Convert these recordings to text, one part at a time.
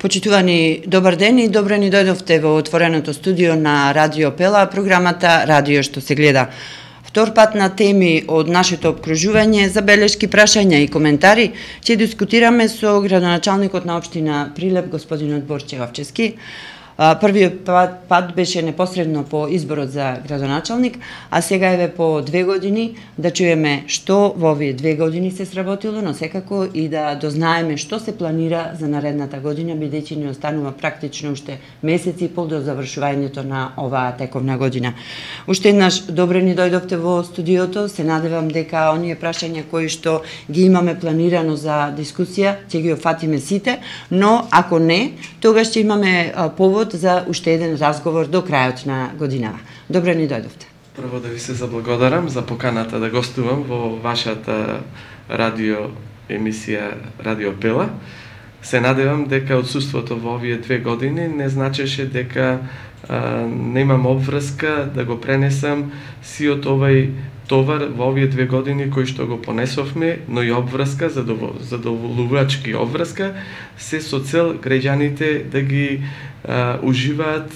Почитувани, добар ден и добро ни дојдовте во отвореното студио на Радио Пела, програмата Радио што се гледа. Втор пат на теми од нашето обкружување, забелешки, прашања и коментари ќе дискутираме со градоначалникот на општина Прилеп, господинот Борче Овчевски. Првиот пат беше непосредно по изборот за градоначалник, а сега еве по 2 години да чуеме што во овие 2 години се сработило, но секако и да дознаеме што се планира за наредната година, бидејќи ни останува практично уште месеци и пол до завршувањето на оваа тековна година. Уште еднаш добре ни дојдовте во студиото, се надевам дека оние прашања кои што ги имаме планирано за дискусија ќе ги офатиме сите, но ако не, тогаш ќе имаме повод за уште еден разговор до крајот на годинава. Добре ни дојдовте. Прво да ви се заблагодарам за поканата да гостувам во вашата радио емисија Радио Пела. Се надевам дека отсуството во овие 2 години не значеше дека немам обврска да го пренесам сиот овај товар во овие 2 години кои што го понесовме, но и обврска, задоволувачки обврска, се со цел граѓаните да ги уживаат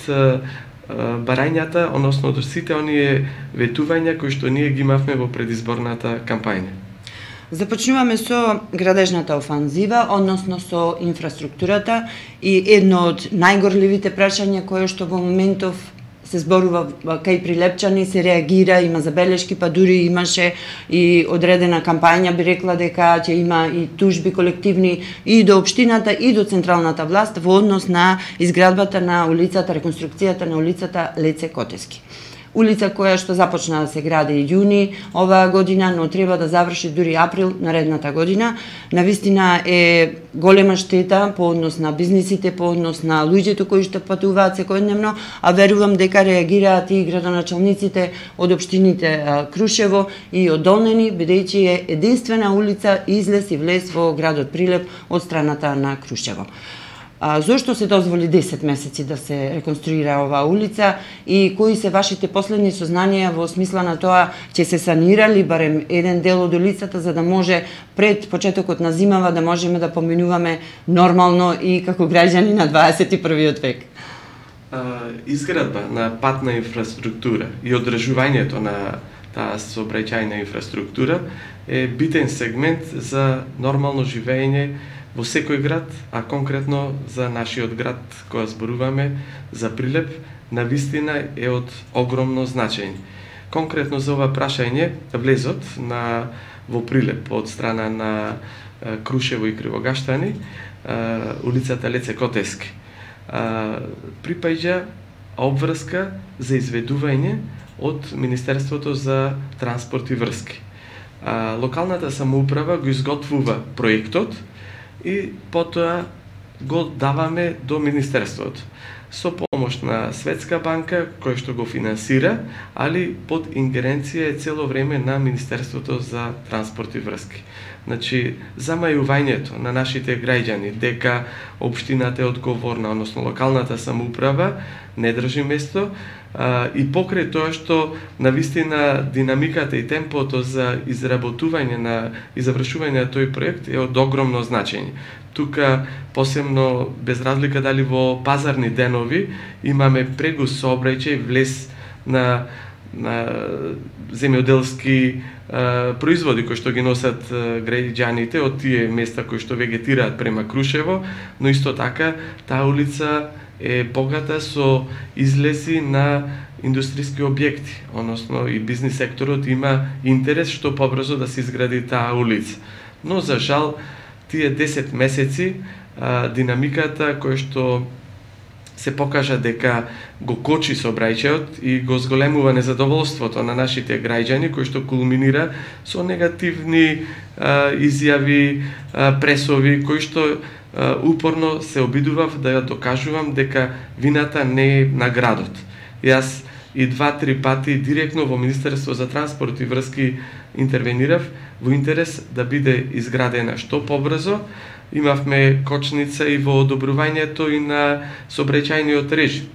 барањата, односно сите оние ветувања кои што ние ги имавме во предизборната кампања. Започнуваме со градежната офанзива, односно со инфраструктурата, и едно од најгорливите прашања кое што во моментов се зборува кај прилепчани, се реагира, има забелешки, па дури имаше и одредена кампања, би рекла дека ќе има и тужби колективни и до општината и до централната власт во однос на изградбата на улицата, реконструкцијата на улицата Леце Котески. Улица која што започна да се гради јуни оваа година, но треба да заврши дури април наредната година. Навистина е голема штета по однос на бизнисите, по однос на луѓето кои што патуваат секојдневно, а верувам дека реагираат и градоначалниците од општините Крушево и од Долнени, бидејќи е единствена улица излез и влез во градот Прилеп од страната на Крушево. Зошто се дозволи 10 месеци да се реконструира оваа улица и кои се вашите последни сознанија во смисла на тоа ќе се санирали барем еден дел од улицата за да може пред почетокот на зимава да можеме да поминуваме нормално и како граѓани на 21. век? Изградба на патна инфраструктура и одржувањето на таа сообраќајна инфраструктура е битен сегмент за нормално живење во секој град, а конкретно за нашиот град која зборуваме, за Прилеп, навистина е од огромно значење. Конкретно за ова прашање, влезот во Прилеп од страна на Крушево и Кривогаштани, улицата Леце Котески, припаѓа обврска за изведување од Министерството за транспорт и врски. Локалната самоуправа го изготвува проектот и потоа го даваме до Министерството со помош на Светска банка која што го финансира, али под ингеренција е цело време на Министерството за транспорт и врски. Значи, замајувањето на нашите граѓани дека општината е одговорна, односно локалната самоуправа не држи место, и покрај тоа што навистина динамиката и темпото за изработување и завршување на тој проект е од огромно значење. Тука, посебно без разлика дали во пазарни денови, имаме прегуст сообраќај, влез на земјоделски производи кои што ги носат граѓаните од тие места кои што вегетираат према Крушево, но исто така таа улица е богата со излези на индустријски објекти, односно и бизнис секторот има интерес што побрзо да се изгради таа улица. Но за жал тие 10 месеци динамиката која што се покажа дека го кочи сообраќајот и го зголемува незадоволството на нашите граѓани, кој што кулминира со негативни изјави, пресови, кои што упорно се обидував да ја докажувам дека вината не е на градот. Јас и 2-3 пати директно во Министерство за транспорт и врски интервенирав во интерес да биде изградена што побрзо. Имавме кочница и во одобрувањето и на сообраќајниот режим,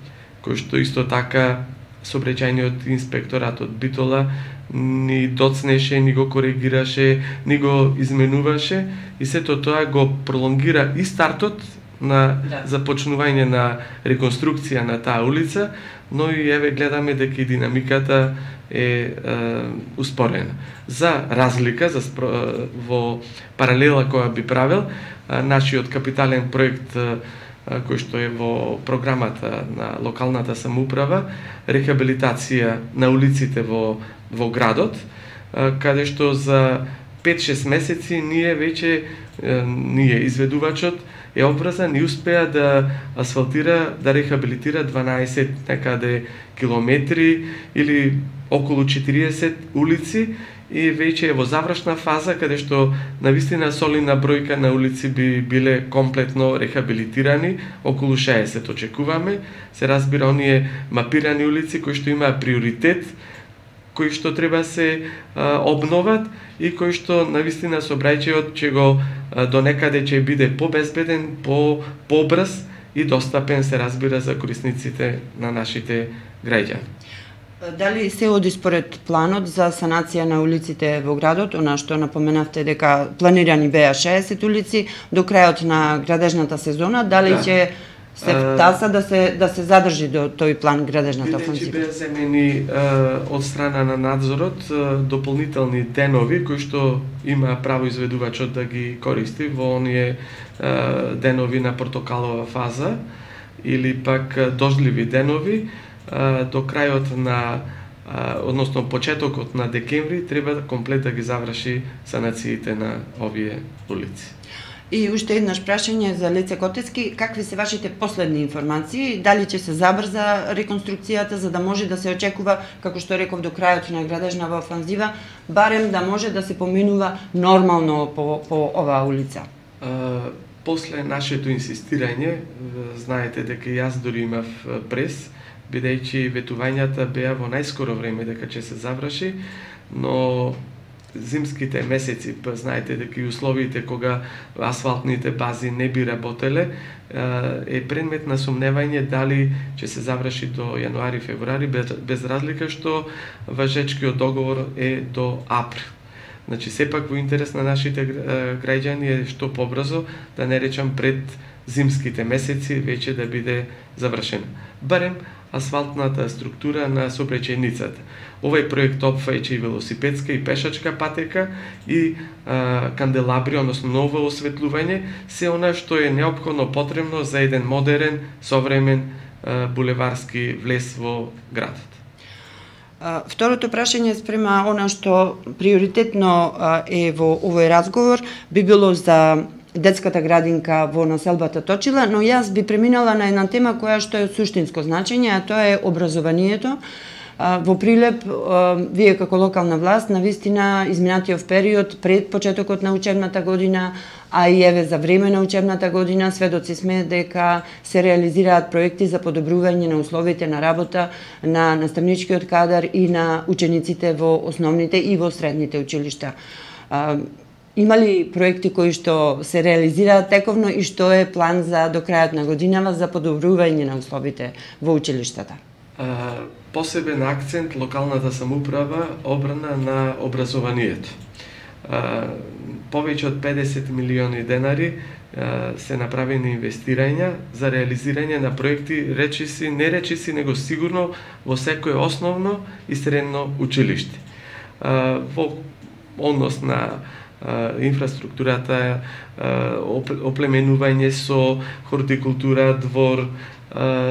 кој што исто така сообраќајниот инспекторат од Битола ни доцнеше, ни го коригираше, ни го изменуваше и сето тоа го пролонгира и стартот на започнување на реконструкција на таа улица, но и еве гледаме дека и динамиката е успорена. За разлика, во паралела која би правил, нашиот капитален проект кој што е во програмата на локалната самоуправа, рехабилитација на улиците во градот, каде што за 5-6 месеци ние изведувачот е обврзан и успеа да асфалтира, да рехабилитира 12 некаде километри или околу 40 улици и веќе е во завршна фаза каде што навистина солидна бројка на улици би биле комплетно рехабилитирани, околу 60 очекуваме. Се разбира оние мапирани улици кои што имаат приоритет, кои што треба се обноват и кои што навистина сообраќајот ќе го до некаде ќе биде побезбеден, побрз и достапен, се разбира, за корисниците на нашите граѓани. Дали се оди според планот за санација на улиците во градот, она што напоменавте дека планирани беа 60 улици до крајот на градежната сезона, дали ќе се втаса да се задржи до тој план градежната офанзива? Бидејќи беа земени од страна на надзорот дополнителни денови кои што има право изведувачот да ги користи во оние денови на портокалова фаза или пак дождливи денови, до крајот на односно почетокот на декември треба комплет да ги заврши санациите на овие улици. И уште еднаш прашање за Леце Котецки, какви се вашите последни информации, дали ќе се забрза реконструкцијата за да може да се очекува, како што реков, до крајот на градежнава офанзива, барем да може да се поминува нормално по оваа улица? После нашето инсистирање, знаете дека јас дори имав прес, бидејќи ветувањата беа во најскоро време дека ќе се заврши, но зимските месеци, знаете дека и условите кога асфалтните бази не би работеле, е предмет на сомневање дали ќе се заврши до јануари-февруари, без разлика што важечкиот договор е до април. Значи, сепак во интерес на нашите граѓани е што побрзо, да не речам пред зимските месеци, веќе да биде завршена. Барем асфалтната структура на сообраќајницата. Овој проект опфаќа и велосипедска и пешачка патека и канделабри, односно ново осветлување, се она што е неопходно потребно за еден модерен, современ булеварски влез во градот. Второто прашање спрема она што приоритетно е во овој разговор би било за детската градинка во населбата Точила, но јас би преминала на една тема која што е од суштинско значење, а тоа е образованието. Во Прилеп, вие како локална власт, навистина изминатиот период пред почетокот на учебната година, а и еве за време на учебната година, сведоци сме дека се реализираат проекти за подобрување на условите на работа на наставничкиот кадар и на учениците во основните и во средните училишта. Има ли проекти кои што се реализираат тековно и што е план за до крајот на годинава за подобрување на условите во училиштата? Посебен акцент локалната самоуправа обрана на образованието. Повеќе од 50 милиони денари се направени инвестирања за реализирање на проекти, не речиси, него сигурно во секое основно и средно училиште. Во однос на инфраструктурата, оплеменување со хортикултура, двор,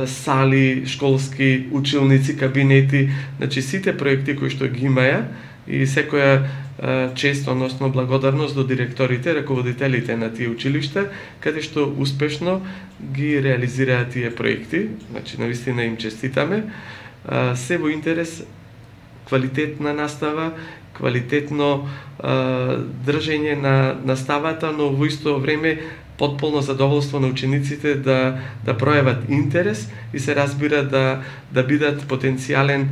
сали, школски, училници, кабинети, значи сите проекти кои што ги имаја и секоја чест, односно благодарност до директорите, раководителите на тие училишта, каде што успешно ги реализираат тие проекти, значи навистина им честитаме, се во интерес квалитетна настава, квалитетно држење на наставата, но во исто време потполно задоволство на учениците да пројават интерес и се разбира да бидат потенцијален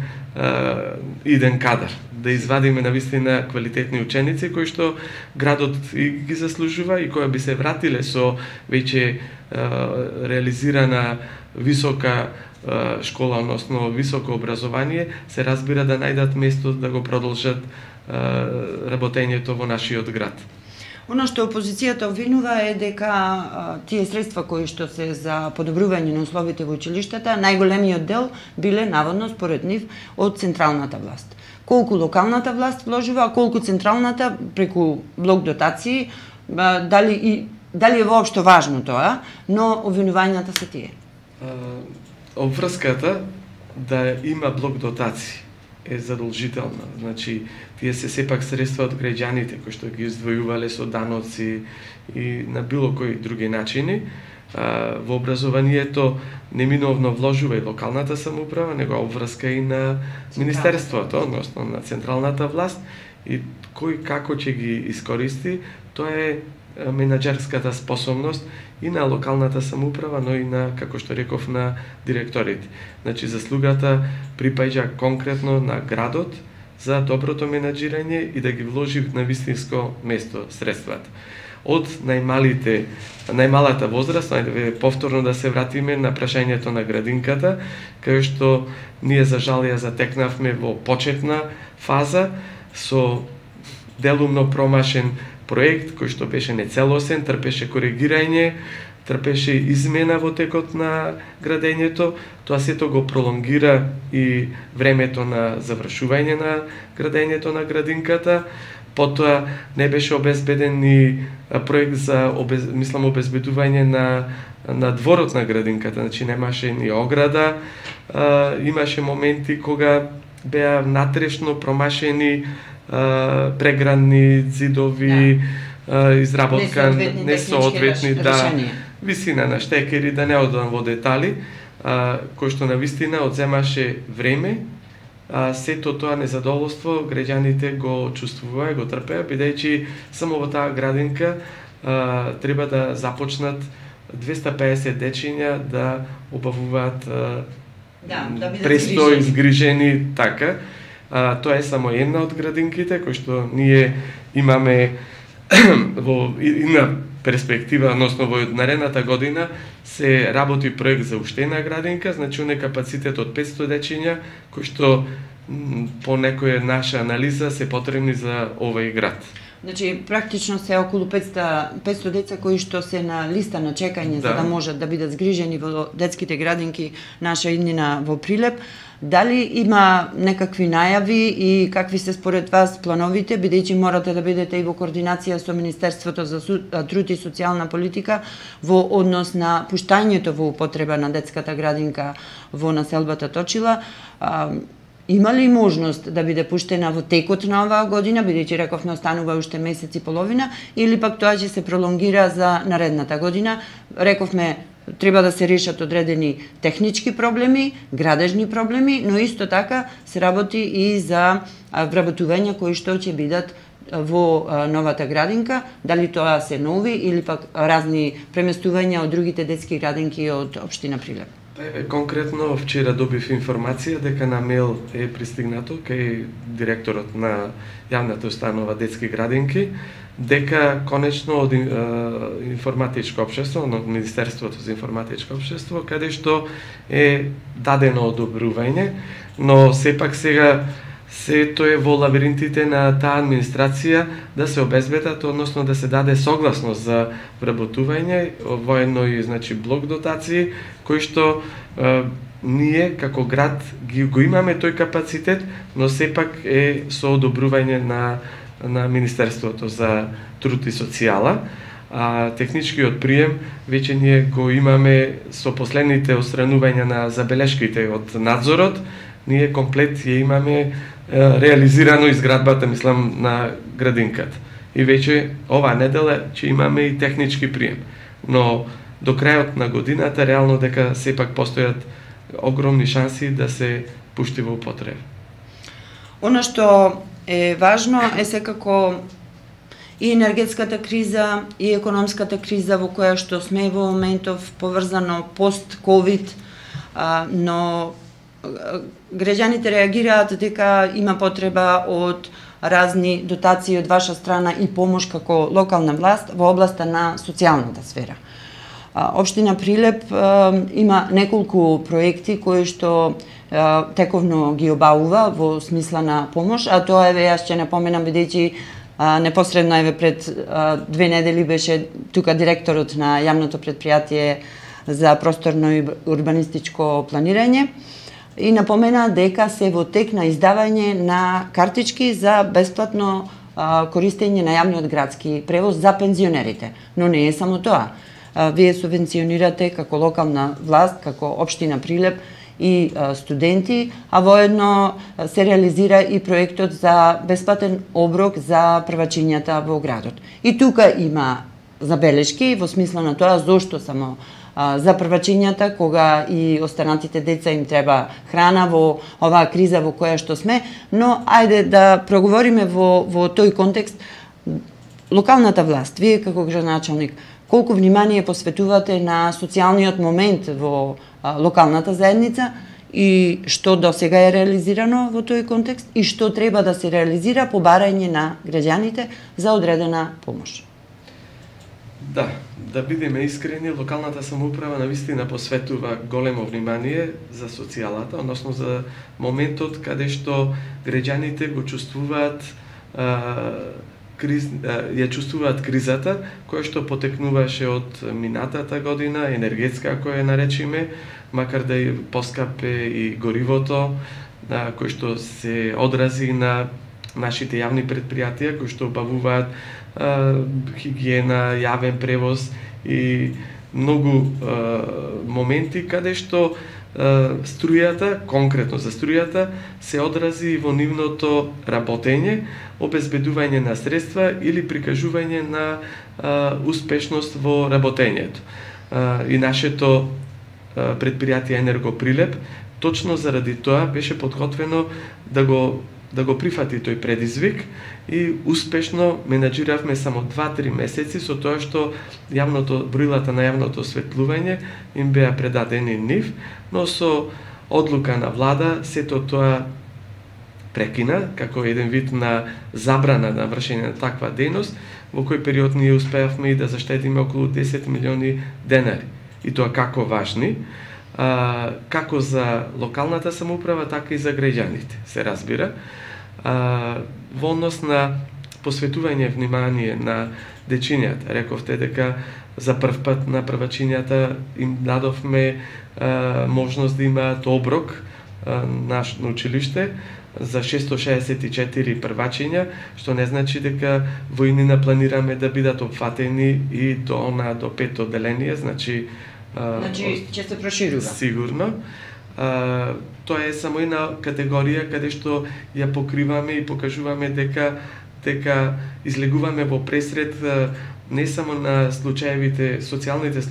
иден кадар, да извадиме навистина квалитетни ученици кои што градот и ги заслужува и кои би се вратиле со веќе реализирана висока школа, односно високо образование, се разбира да најдат место да го продолжат работењето во нашиот град. Оно што опозицијата обвинува е дека тие средства кои што се за подобрување на условите во училиштата, најголемиот дел биле наводно според нив од централната власт. Колку локалната власт вложува, а колку централната преку блок дотации, дали е воопшто важно тоа, но обвинувањата се тие. Обврската да има блок дотации е задолжителна. Значи, тие се сепак средства од граѓаните кои што ги издвојувале со даноци и на било кои други начини. Во образованието неминовно вложува и локалната самоуправа, него обврска и на Министерството, односно на централната власт, и кој како ќе ги искористи, тоа е менаџерската способност и на локалната самоуправа, но и на, како што реков, на директорите. Значи, заслугата припаѓа конкретно на градот за доброто менаџирање и да ги вложи на вистинско место средствата. Од најмалата возраст, повторно да се вратиме на прашањето на градинката, кај што ние за жал ја затекнавме во почетна фаза со делумно промашен проект кој што беше нецелосен, трпеше коригирање, трпеше измена во текот на градењето, тоа сето го пролонгира и времето на завршување на градењето на градинката. Потоа не беше обезбеден ни проект за обезбедување на дворот на градинката, значи немаше ни ограда, имаше моменти кога беа натрешно промашени преградни зидови, изработка несоодветни, висина на штекери, да не одам во детали, кој што навистина одземаше време. Сето тоа незадоволство граѓаните го чувствуваа, го трпеа, бидејќи само во таа градинка треба да започнат 250 дечиња да обавуваат престој, згрижени, така. Тоа е само една од градинките кои што ние имаме во една перспектива, односно во наредната година се работи проект за уште една градинка, значи оне капацитет од 500 дечиња кои што по некоја наша анализа се потребни за овој град. Значи, практично се околу 500 деца кои што се на листа на чекање за да можат да бидат згрижени во детските градинки наша иднина во Прилеп. Дали има некакви најави и какви се според вас плановите, бидејќи морате да бидете и во координација со Министерството за труд и социјална политика во однос на пуштањето во употреба на детската градинка во населбата Точила? Има ли можност да биде пуштена во текот на оваа година, бидејќи рековме останува уште месец и половина, или пак тоа ќе се пролонгира за наредната година? Рековме треба да се решат одредени технички проблеми, градежни проблеми, но исто така се работи и за вработувања кои што ќе бидат во новата градинка, дали тоа се нови или пак разни преместувања од другите детски градинки од општина Прилеп. Конкретно вчера добив информација дека на мејл е пристигнато кај директорот на јавната установа детски градинки, дека конечно од информатичко општество, од Министерството за информатичко општество, каде што е дадено одобрување, но сепак сега сето е во лабиринтите на таа администрација да се обезбедат, односно да се даде согласност за вработување, воедно и значи блок дотации, кои што ние како град го имаме тој капацитет, но сепак е со одобрување на Министерството за труд и социјала. Техничкиот прием веќе ние го имаме со последните отстранувања на забелешките од надзорот, ние комплет ја имаме реализирано изградбата, мислам, на градинката. И веќе оваа недела ќе имаме и технички прием. Но до крајот на годината реално дека сепак постојат огромни шанси да се пушти во употреба. Оно што е важно е секако и енергетската криза, и економската криза во која што сме во моментов, поврзано пост-ковид, но граѓаните реагираат дека има потреба од разни дотации од ваша страна и помош како локална власт во областа на социјалната сфера. Општина Прилеп има неколку проекти кои што тековно ги обавува во смисла на помош, а тоа е, јас ќе напоменам, бидејќи Непосредно еве пред 2 недели беше тука директорот на јавното претпријатие за просторно и урбанистичко планирање и напомена дека се во тек на издавање на картички за бесплатно користење на јавниот градски превоз за пензионерите. Но не е само тоа. Вие субвенционирате како локална власт, како општина Прилеп и студенти, а воедно се реализира и проектот за бесплатен оброк за првачињата во градот. И тука има забелешки во смисла на тоа зошто само за првачињата, кога и останатите деца им треба храна во оваа криза во која што сме, но ајде да проговориме во тој контекст. Локалната власт, вие како градоначалник, колку внимание посветувате на социјалниот момент во локалната заедница и што до сега е реализирано во тој контекст и што треба да се реализира по барање на граѓаните за одредена помош? Да бидеме искрени, локалната самоуправа навистина посветува големо внимание за социјалата, односно за моментот каде што граѓаните го чувствуваат ја чувствуваат кризата, која што потекнуваше од минатата година, енергетска која наречиме, макар да и поскапе и горивото, кој што се одрази на нашите јавни претпријатија, кои што обавуваат хигиена, јавен превоз и многу моменти каде што струјата, конкретно за струјата, се одрази во нивното работење, обезбедување на средства или прикажување на успешност во работењето. И нашето претпријатие Енерго Прилеп точно заради тоа беше подготвено да го прифати тој предизвик и успешно менаџиравме само 2-3 месеци со тоа што броилата на јавното осветлување им беа предадени нив, но со одлука на влада сето тоа прекина како еден вид на забрана на вршење на таква дејност, во кој период ние успеавме и да заштедиме околу 10 милиони денари. И тоа како важни, како за локалната самоуправа, така и за граѓаните, се разбира. Во однос на посветување внимание на дечињата, рековте дека за прв пат на првачињата им дадовме можност да имаат оброк на училиште за 664 првачиња, што не значи дека во иднина планираме да бидат опфатени и до 5 одделение, значи ќе се проширува. Сигурно. Тоа е само една категорија каде што ја покриваме и покажуваме дека излегуваме во пресред не само на социјалните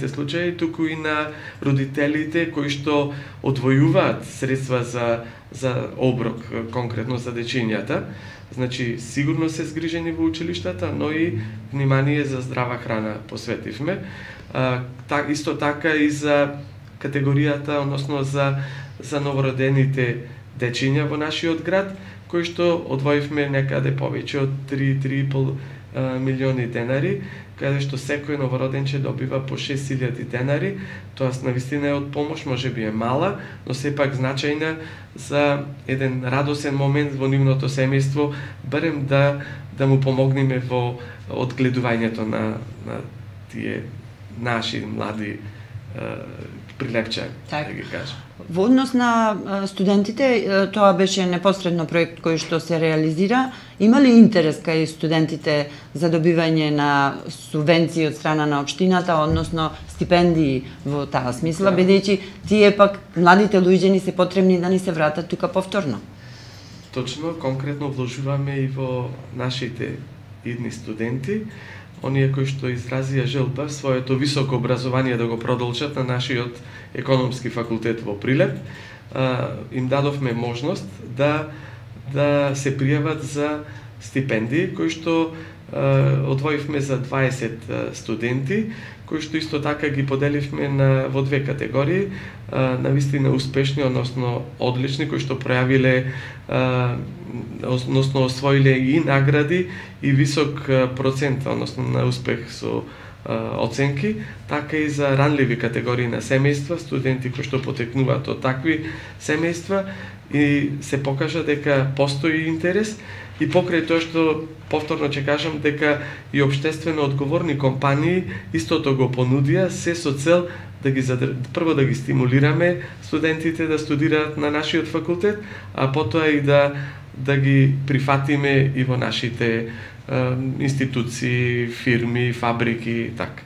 случаи, туку и на родителите кои што одвојуваат средства за оброк, конкретно за дечињата. Значи, сигурно се згрижени во училиштата, но и внимание за здрава храна посветивме. Исто така и за категоријата, односно за новородените дечиња во нашиот град, кои што одвоивме некаде повеќе од 3,5 милиони денари, каде што секој новороденче добива по 6.000 денари. Тоа навистина е од помош, можеби е мала, но сепак значајна за еден радосен момент во нивното семејство, барем да му помогнеме во одгледувањето на тие наши млади прилепчани, да ги кажам. Во однос на студентите, тоа беше непосредно проект кој што се реализира. Има ли интерес кај студентите за добивање на субвенции од страна на општината, односно стипендии во таа смисла, бидејќи тие пак младите луѓе ни се потребни да ни се вратат тука повторно? Точно, конкретно вложуваме и во нашите идни студенти, оние кои што изразија желба своето високо образование да го продолжат на нашиот економски факултет во Прилеп, им дадовме можност да се пријават за стипендии, кои што одвоивме за 20 студенти, кои што исто така ги поделивме во две категории, навистина успешни, односно одлични, кои што пројавиле, односно освоиле и награди и висок процент, односно на успех со оценки, така и за ранливи категории на семејства, студенти кои што потекнуваат од такви семејства и се покажа дека постои интерес и покрај тоа што повторно ќе кажам дека и општествено одговорни компании истото го понудија, се со цел да ги прво да ги стимулираме студентите да студираат на нашиот факултет, а потоа и да ги прифатиме и во нашите институции, фирми, фабрики, така.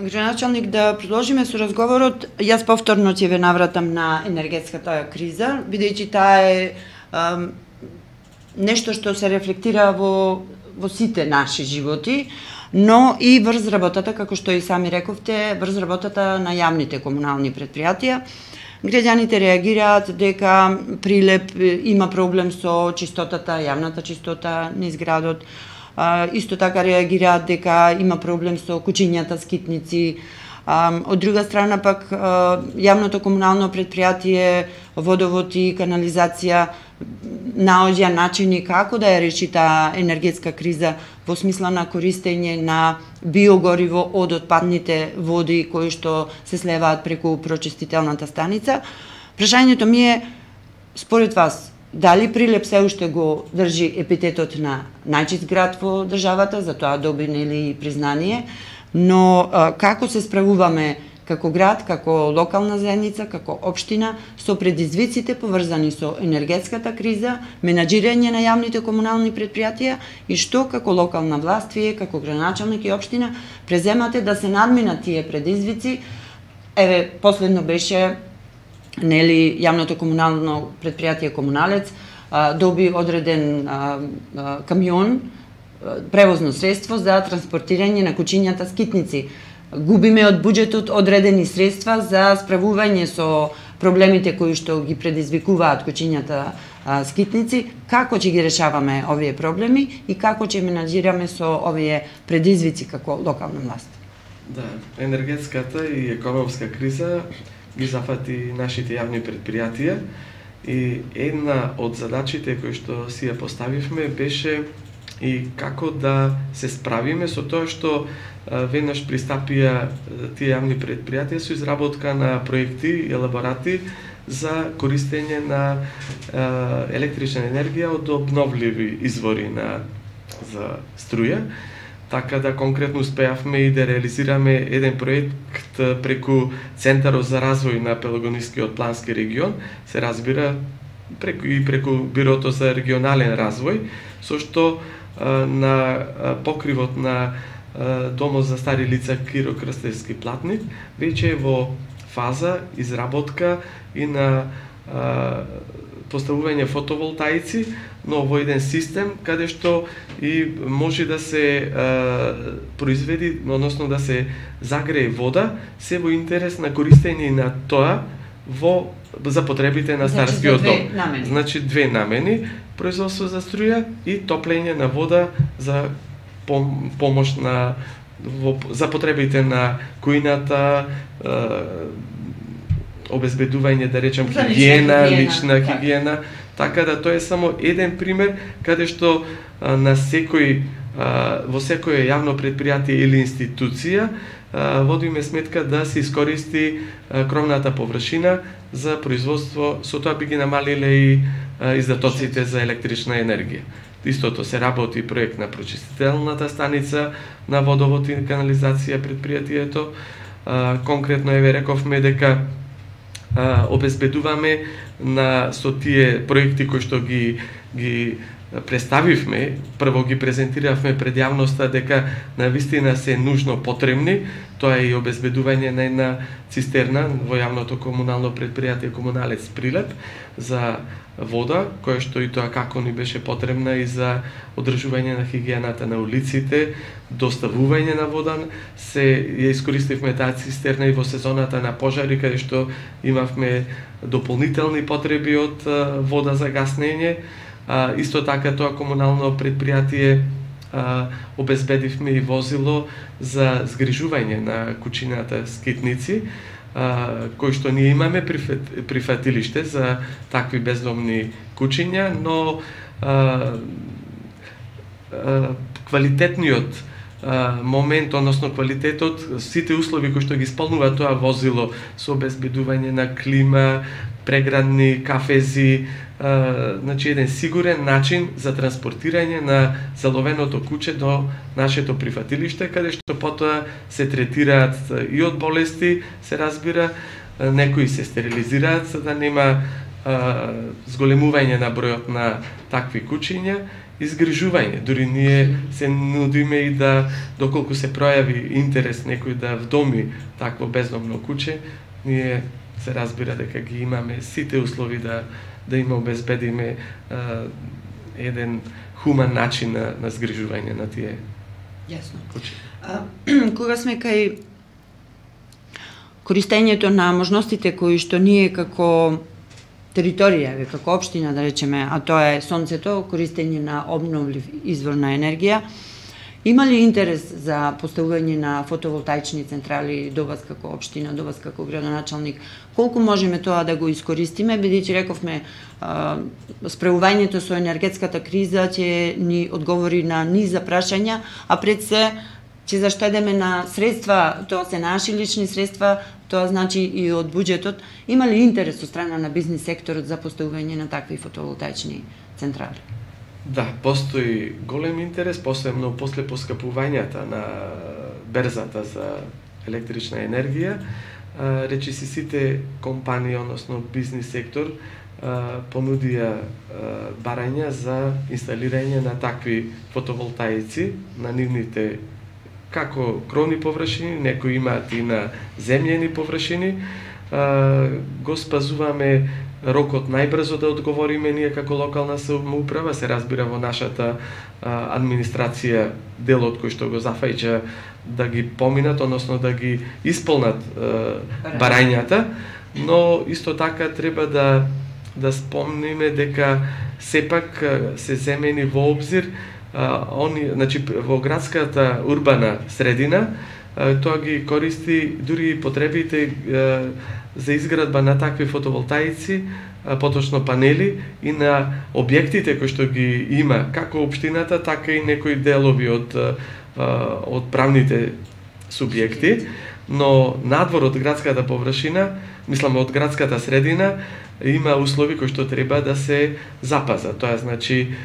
Градоначалник, да продолжиме со разговорот. Јас повторно ќе ве навратам на енергетската криза, бидејќи таа е нешто што се рефлектира во сите наши животи, но и врз работата, како што и сами рековте, врз работата на јавните комунални предпријатија. Граѓаните реагираат дека Прилеп има проблем со чистотата, јавната чистота низ градот. Исто така реагираат дека има проблем со куќињата скитници. Од друга страна пак јавното комунално предпријатие Водовод и канализација наоѓа начини како да ја реши таа енергетска криза во смисла на користење на биогориво од отпадните води кои што се слеваат преку прочистителната станица. Прашањето ми е, според вас, дали Прилеп се уште го држи епитетот на најчист град во државата, за тоа доби нели признание, но како се справуваме како град, како локална заедница, како општина со предизвиците поврзани со енергетската криза, менаџирање на јавните комунални предпријатија и што како локална власт, вие како градоначалник и општина преземате да се надминат тие предизвици. Еве, последно беше нели јавното комунално предпријатие Комуналец доби одреден камион, превозно средство за транспортирање на куќињата скитници. Губиме од буџетот одредени средства за справување со проблемите кои што ги предизвикуваат куќињата скитници. Како ќе ги решаваме овие проблеми и како ќе менаџираме со овие предизвици како локална власт? Да, енергетската и економска криза ги зафати нашите јавни предпријатија и една од задачите кои што си ја поставивме беше и како да се справиме со тоа што веднаш пристапија тие јавни предпријатија со изработка на проекти и елаборати за користење на електрична енергија од обновливи извори за струја. Така да конкретно успеавме и да реализираме еден проект преку Центарот за развој на Пелагонискиот плански регион, се разбира преку Бирото за регионален развој, со што на покривот на Домот за стари лица Киро Крстевски Платник веќе е во фаза изработка и на поставување фотоволтаици, но во еден систем каде што и може да се произведи, односно да се загрее вода, се во интерес на користење на тоа за потребите на старскиот дом. Значи две намени, производство за струја и топлење на вода за помош за потребите на кујната, обезбедување, да речем, хигиена, лична хигиена. Така да тоа е само еден пример каде што во секој јавно предпријатие или институција водиме сметка да се искористи кровната површина за производство, со тоа би ги намалиле и издатоците за електрична енергија. Истото се работи проект на прочистителната станица на Водовод и канализација предпријатието. Конкретно еве рековме дека обезбедуваме со тие проекти кои што ги представивме, прво ги презентиравме пред јавноста дека навистина се нужно потребни, тоа е и обезбедување на една цистерна во јавното комунално предпријатие Комуналец Прилеп за вода, која што и тоа како ни беше потребна и за одржување на хигиената на улиците, доставување на вода, ја искористивме таа цистерна и во сезоната на пожари, каде што имавме дополнителни потреби од вода за гаснење. Исто така тоа комунално предпријатие обезбедивме и возило за згрижување на куќината скитници, кој што ние имаме прифатилиште за такви бездомни куќиња, но квалитетниот момент, односно квалитетот, сите услови кои што ги исполнува тоа возило со обезбедување на клима, преградни кафези, значи еден сигурен начин за транспортирање на заловеното куче до нашето прифатилиште, каде што потоа се третираат и од болести, се разбира, некои се стерилизираат за да нема зголемување на бројот на такви кучиња, изгрижување. Дури ние се нудиме и да, доколку се пројави интерес некој да вдоми такво бездомно куче, ние се разбира дека ги имаме сите услови да им обезбедиме еден хуман начин на згрижување на тие куче. Кога сме кај користењето на можностите кои што ние како територија, како општина да речеме, а тоа е сонцето, користење на обновлив извор на енергија, има ли интерес за поставување на фотоволтаични централи до вас како општина, до вас како градоначалник? Колку можеме тоа да го искористиме, бидејќи рековме справувањето со енергетската криза ќе ни одговори на низ прашања, а пред се ќе заштедеме на средства, тоа се наши лични средства, тоа значи и од буџетот. Има ли интерес од страна на бизнис секторот за поставување на такви фотоволтаични централи? Да, постои голем интерес, посебно после поскапувањата на берзата за електрична енергија. Речиси сите компании, односно бизнис сектор, понудија барања за инсталирање на такви фотоволтаици на нивните како кровни површини, некои имаат и на земјени површини. Го спазуваме рокот најбрзо да одговориме ние како локална самоуправа, се разбира во нашата администрација делот кој што го зафаќа да ги поминат, односно да ги исполнат барањата, но исто така треба да спомниме дека сепак се земени во обзир значи во градската урбана средина, тоа ги користи дури потребите за изградба на такви фотоволтаици, поточно панели и на објектите кои што ги има како општината, така и некои делови од правните субјекти, но надвор од градската површина, мислам од градската средина, има услови кои што треба да се запазат. Тоа значи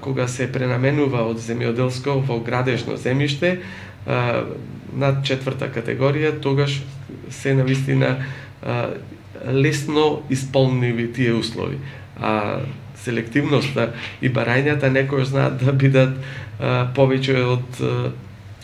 кога се пренаменува од земјоделско во градежно земјиште на 4-та категорија, тогаш се навистина лесно исполниви тие услови. А селективноста и барањата некој знаат да бидат повеќе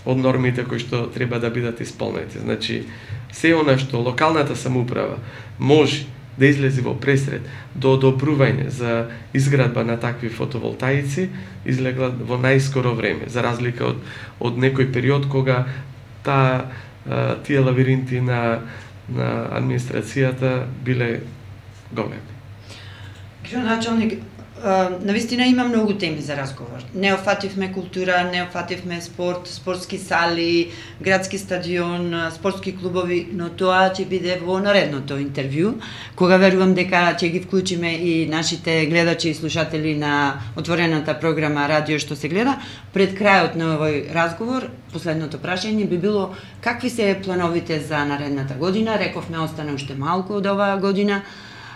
од нормите кои што треба да бидат исполнети. Значи, се она што локалната самоуправа може да излези во пресред до одобрување за изградба на такви фотоволтаици, излегла во најскоро време, за разлика од некој период кога тие лавиринти на администрацијата биле големи. Градоначалник, навистина има многу теми за разговор. Не офативме култура, не офативме спорт, спортски сали, градски стадион, спортски клубови, но тоа ќе биде во наредното интервју, кога верувам дека ќе ги вклучиме и нашите гледачи и слушатели на отворената програма Радио што се гледа. Пред крајот на овој разговор, последното прашање би било какви се плановите за наредната година? Рековме остане уште малку од оваа година.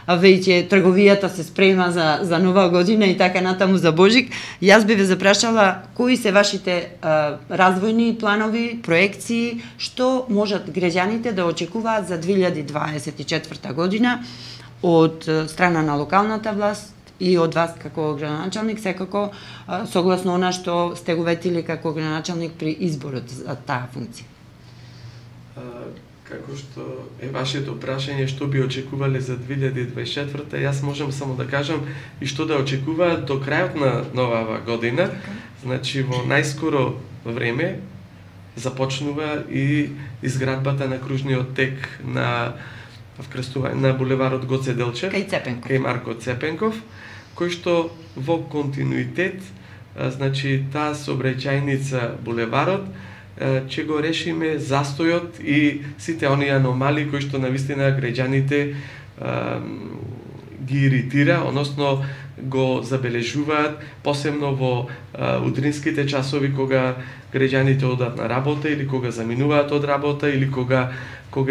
Веќе трговијата се спрема за нова година и така натаму за Божик. Јас би ве запрашала кои се вашите развојни планови, проекции, што можат граѓаните да очекуваат за 2024 година од страна на локалната власт и од вас како градоначалник, секако согласно она што сте го ветили како градоначалник при изборот за таа функција. Како што е вашето прашање што би очекувале за 2024, јас можам само да кажам и што да очекуваат до крајот на новава година. Значи во најскоро време започнува и изградбата на кружниот тек на булеварот Гоце Делчев, кај Марко Цепенков, кој што во континуитет, значи таа сообраќајница булеварот ќе го решиме застојот и сите оние аномалии кои што навистина граѓаните ги иритира, односно го забележуваат, посебно во утринските часови кога граѓаните одат на работа или кога заминуваат од работа или кога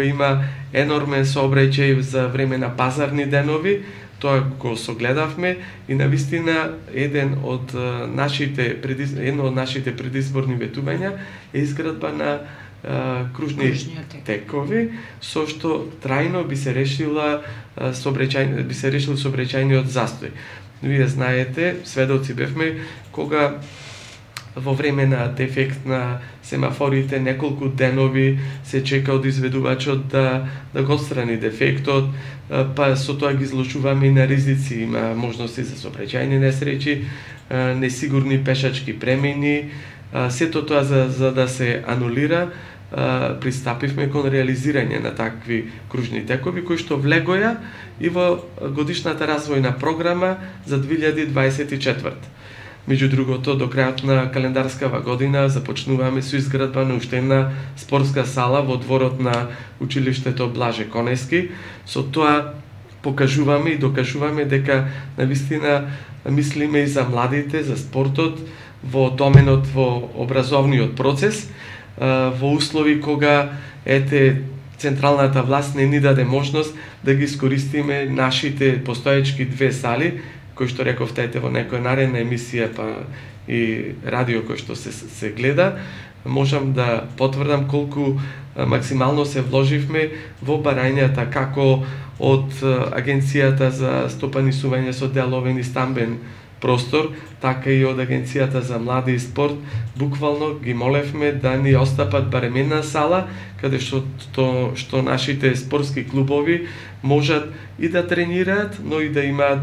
има енормен сообраќај за време на пазарни денови. Тоа го согледавме и навистина едно од нашите предизборни ветувања е изградба на кружни текови, со што трајно би се решил сообраќајниот застој. Вие знаете, сведоци бевме кога во време на дефект на семафорите неколку денови се чека од изведувачот да го отстрани дефектот, па со тоа ги изложуваме и на ризици, има можности за сообраќајни несреќи, несигурни пешачки премини, сето тоа за да се анулира, пристапивме кон реализирање на такви кружни текови кои што влегоја и во годишната развојна програма за 2024. Меѓу другото, до крајот на календарскава година започнуваме со изградба на уште една спортска сала во дворот на училиштето Блаже Конески. Со тоа покажуваме и докажуваме дека навистина мислиме и за младите, за спортот, во доменот, во образовниот процес, во услови кога централната власт не ни даде можност да ги искористиме нашите постоечки две сали, кои што рековте во некоја наредна емисија, па и радио кој што се гледа, можам да потврдам колку максимално се вложивме во барањата како од Агенцијата за стопанисување со деловен и стамбен простор, така и од Агенцијата за млади и спорт. Буквално ги молевме да ни остапат барем една сала, каде што нашите спортски клубови можат и да тренираат, но и да имаат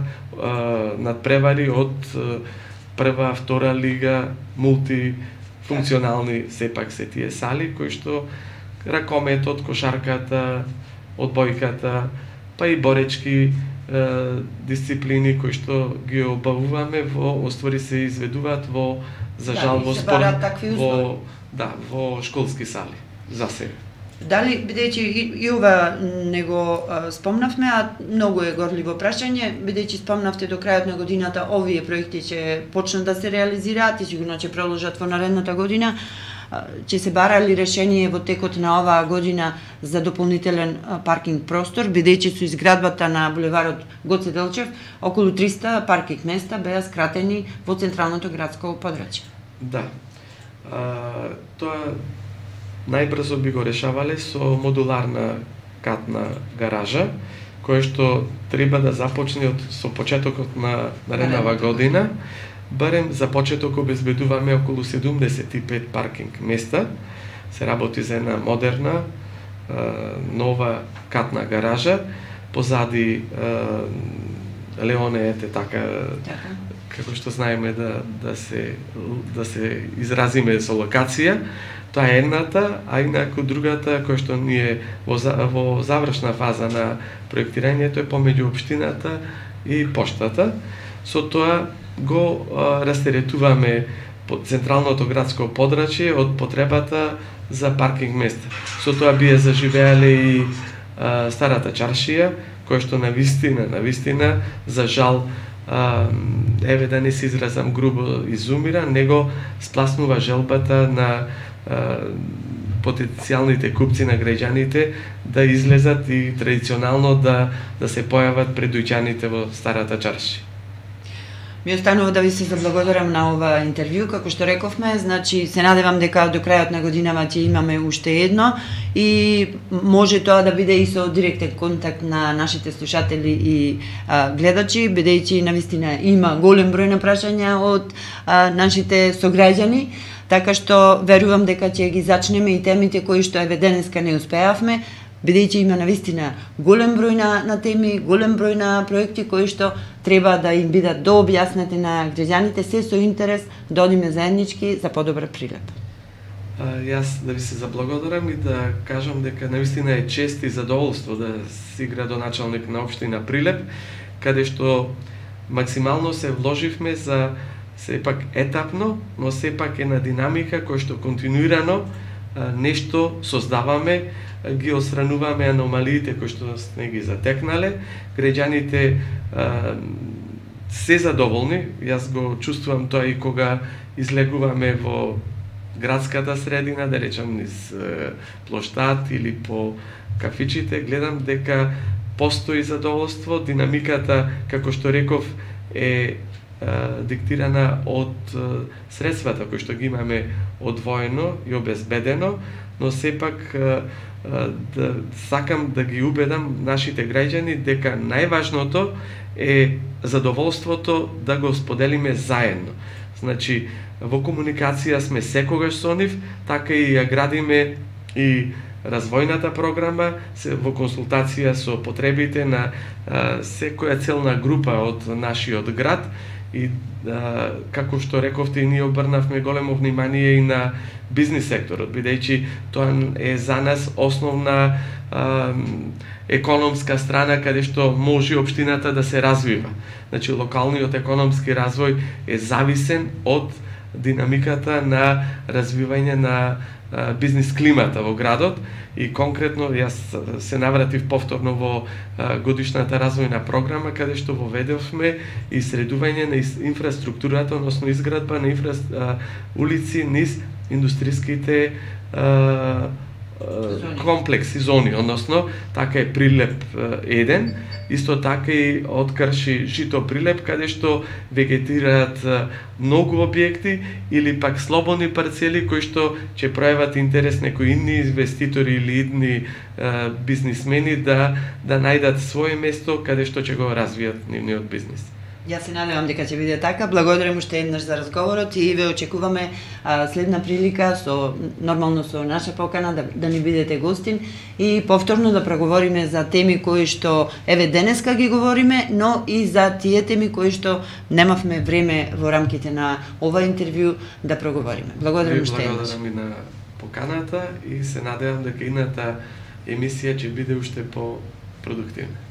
надпревари од прва, втора лига, мултифункционални сепак се тие сали, кои што ракометот, кошарката, одбојката, па и боречки дисциплини кои што ги обавуваме во оствари се изведуваат во за жал во спорт во школски сали за себе. Дали, бидејќи и ова не го спомнавме, а многу е горливо прашање, бидејќи спомнавте до крајот на годината овие проекти ќе почнат да се реализираат и сигурно ќе продолжат во наредната година, ќе се бара ли решение во текот на оваа година за дополнителен паркинг простор, бидејќи со изградбата на булеварот Гоце Делчев околу 300 паркинг места беа скратени во централното градско подрачје? Да. Тоа најбрзо би го решавале со модуларна катна гаража, која што треба да започне со почетокот на нареднава година. Барем за почеток обезбедуваме околу 75 паркинг места. Се работи за една модерна, нова катна гаража. Позади Леоне така како што знаеме да се изразиме со локација. Тоа е едната, а инаку другата која што ние во завршна фаза на проектирањето е помеѓу општината и поштата. Со тоа го растеретуваме централното градско подрачје од потребата за паркинг места. Со тоа бие заживеале и старата чаршија, која што навистина, за жал, еве да не се изразам грубо, изумира, него спласнува желбата на потенцијалните купци на граѓаните да излезат и традиционално да се појават пред дојќаните во старата чаршија. Ми останува да ви се заблагодарам на ова интервју, како што рековме, значи се надевам дека до крајот на годинава ќе имаме уште едно и може тоа да биде и со директен контакт на нашите слушатели и гледачи, бидејќи навистина има голем број на прашања од нашите сограѓани, така што верувам дека ќе ги зачнеме и темите кои што еве денеска не успеавме, бидејќи има навистина голем број на теми, голем број на проекти кои што треба да им бидат дообјаснати на граѓаните, се со интерес да одиме заеднички за подобар Прилеп. Јас да ви се заблагодарам и да кажам дека навистина е чест и задоволство да си градоначалник на општина Прилеп, каде што максимално се вложивме за сепак етапно, но сепак една динамика која што континуирано нешто создаваме, ги отстрануваме аномалиите кои што не ги затекнале, граѓаните се задоволни. Јас го чувствувам тоа и кога излегуваме во градската средина, да речам низ плоштад или по кафичите, гледам дека постои задоволство, динамиката, како што реков, е диктирана од средствата кои што ги имаме одвоено и обезбедено, но сепак сакам да ги убедам нашите граѓани дека најважното е задоволството да го споделиме заедно. Значи, во комуникација сме секогаш со нив, така и ја градиме и развојната програма во консултација со потребите на секоја целна група од нашиот град и како што рековте и ние обрнавме големо внимание и на бизнис секторот, бидејќи тоа е за нас основна економска страна каде што може општината да се развива. Значи, локалниот економски развој е зависен од динамиката на развивање на бизнис климата во градот и конкретно јас се навратив повторно во годишната развојна програма каде што воведовме и средување на инфраструктурата, односно изградба на улици низ индустриските комплекси, зони, односно така е Прилеп 1, исто така и од Крши Жито Прилеп, каде што вегетираат многу објекти или пак слободни парцели кои што ќе пројават интерес некои идни инвеститори или идни бизнисмени да најдат свое место каде што ќе го развијат нивниот бизнис. Јас се надевам дека ќе биде така. Благодарам уште еднаш за разговорот и ве очекуваме следна прилика нормално со наша покана да ни бидете гостин и повторно да проговориме за теми кои што еве денеска ги говориме, но и за тие теми кои што немавме време во рамките на ова интервју да проговориме. Благодарам уште еднаш. Благодарам и на поканата и се надевам дека идната емисија ќе биде уште по продуктивна.